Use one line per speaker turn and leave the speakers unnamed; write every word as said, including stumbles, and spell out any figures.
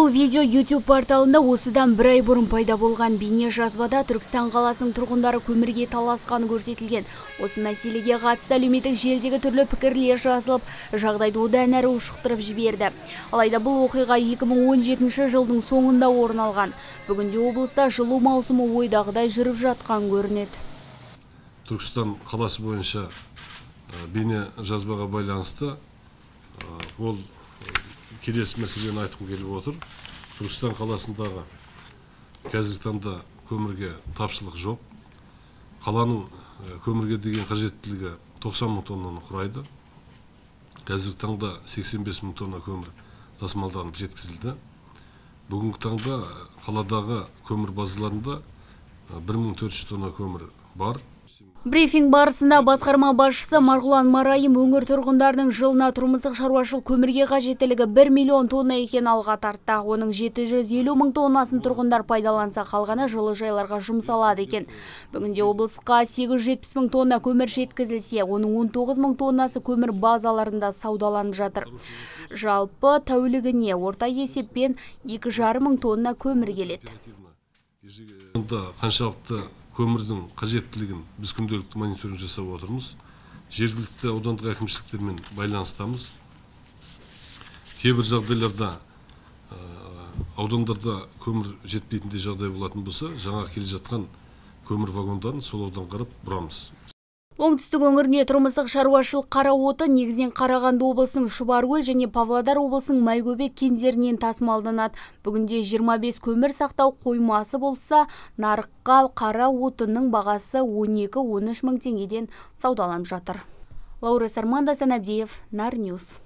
Бұл видео YouTube порталында осыдан бір ай бұрын пайда болған. Бейне жазбада Түркістан қаласының тұрғындары көмірге таласқаны көрсетілген. Осы мәселеге қатысты әлеуметтік желідегі түрлі пікірлер жазылып, жағдайды одан әрі ушықтырып жіберді. Алайда бұл оқиға екі мың он жетінші жылдың соңында орын алған. Бүгінде облыста жылу маусымы ойдағыдай жүріп жатқан көрінеді.
Түркістан қаласы бойынша бейне жазбаға байланысты ол келесі мәселені айтқым келіп отыр. Түркістан қаласындағы қазіргі таңда көмірге тапшылық жоқ. Қаланың көмірге деген қажеттілігі тоқсан мың тоннаны құрайды. Қазіргі таңда сексен бес мың тонна көмір тасымалданып жеткізілді. Бүгінгі таңда қаладағы көмір базаларында бір мың төрт жүз тонна көмір бар.
Брифинг барысында басқарма басшысы Марғұлан Марайым өңір тұрғындарының жылына тұрмыстық шаруашылық көмірге қажеттілігі бір миллион тонна екен алға тартты. Оның жеті жүз елу мың тоннасын тұрғындар пайдаланса, қалғаны жылыжайларға жұмсалады екен. Бүгінде облысқа сегіз жүз жетпіс мың тонна көмір жеткізілсе, оның он тоғыз мың тоннасы көмір базаларында саудаланып жатыр. Жалпы тәулігіне орта есеппен екі жарым мың тонна көмір келеді.
Қаншалықты көмірдің қажеттілігін біз күнделікті мониторинг жасап отырмыз. Жергілікті аудандық әкімшіліктермен байланыстамыз. Кейбір жағдайларда аудандарда көмір жетпейтіндей жағдай болатын болса, жаңа келе жатқан көмір вагондарын сол аудан қарап бұрамыз.
Оңтүстік өңіріне тұрмыстық шаруашылық қара оты негізінен Қарағанды облысының Шұбаркөл және Павлодар облысының Майкөбек кендерінен тасымалданады. Бүгінде жиырма бес көмір сақтау қоймасы болса, нарыққа қара отының бағасы он екі он үш мың теңгеден саудаланып жатыр. Лаура Сарманда, Санабдиев, Нар Ньюс.